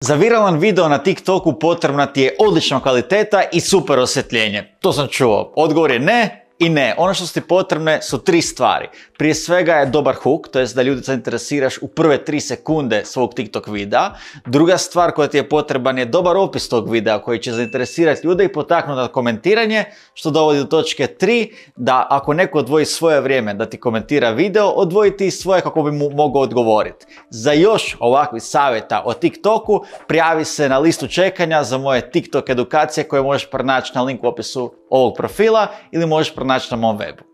Za viralan video na TikToku potrebna ti je odlična kvaliteta i super osvjetljenje. To sam čuo. Odgovor je ne i ne. Ono što su ti potrebne su 3 stvari. Prije svega je dobar hook, to jest da ljudi zainteresiraš u prve 3 sekunde svog TikTok videa. Druga stvar koja ti je potreban je dobar opis tog videa koji će zainteresirati ljude i potaknuti na komentiranje, što dovodi do točke 3, da ako neko odvoji svoje vrijeme da ti komentira video, odvoji ti svoje kako bi mu mogao odgovoriti. Za još ovakvih savjeta o TikToku, prijavi se na listu čekanja za moje TikTok edukacije koje možeš pronaći na linku u opisu ovog profila ili možeš pronaći na mom webu.